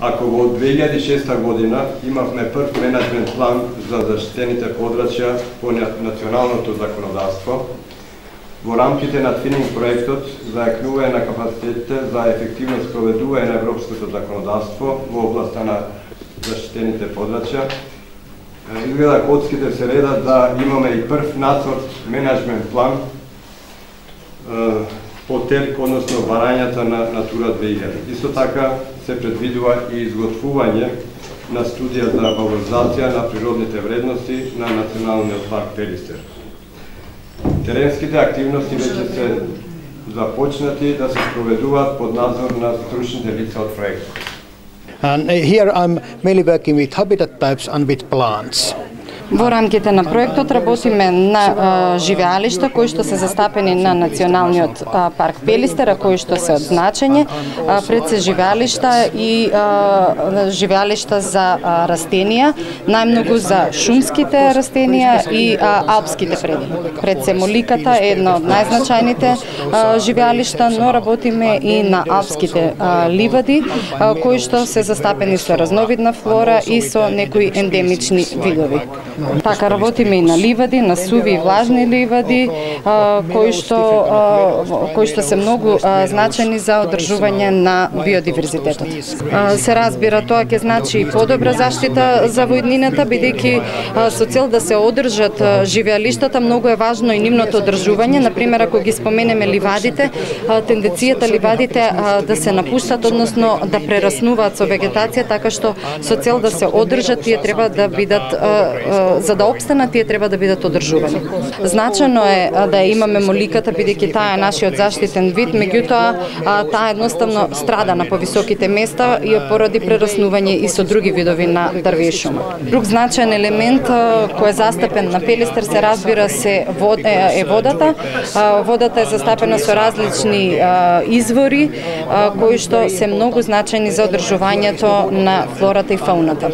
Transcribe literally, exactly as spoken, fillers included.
Ако во две илјади и шеста година имавме прв менеджмент план за заштитените подрачја по националното законодавство, во рамките на твининг проектот за јакнување на капацитетите за ефективно спроведување на европското законодавство во областа на заштитените подрачја, изгледа коцките се редат да имаме и прв нацрт менеджмент план по ТЕРК, односно барањата на Натура две илјади. Исто така се предвидува и изготвување на студија за валоризација на природните вредности на Националниот парк Пелистер. Теренските активности веќе се започнати да се проведуваат под надзор на стручните лица од проектот. And here I'm mainly working with habitat types and with plants. Во рамките на проектот работиме на живеалишта кои што се застапени на Националниот парк Пелистер, а кои што се од значење, пред се живеалишта и живеалишта за растенија, најмногу за шумските растенија и алпските предини. Пред се моликата е една од најзначајните живеалишта, но работиме и на алпските ливади, кои што се застапени со разновидна флора и со некои ендемични видови. Така работиме и на ливади, на суви и влажни ливади, кои што кои што се многу значајни за одржување на биодиверзитетот. Се разбира, тоа ќе значи и подобра заштита за војнината, бидејќи со цел да се одржат живеалиштата, многу е важно и нивното одржување. Например, ако ги споменеме ливадите, тенденцијата ливадите да се напуштат, односно да прераснуваат со вегетација, така што со цел да се одржат, тие треба да бидат, за да обстанат, тие треба да бидат одржувани. Значено е да имаме моликата, бидејќи таа е нашиот заштитен вид, меѓутоа таа едноставно страда на повисоките места и поради прераснување и со други видови на дрвја и шума. Друг значаен елемент кој е застапен на Пелистер се разбира се вод, е, е водата. Водата е застапена со различни извори кои што се многу значајни за одржувањето на флората и фауната.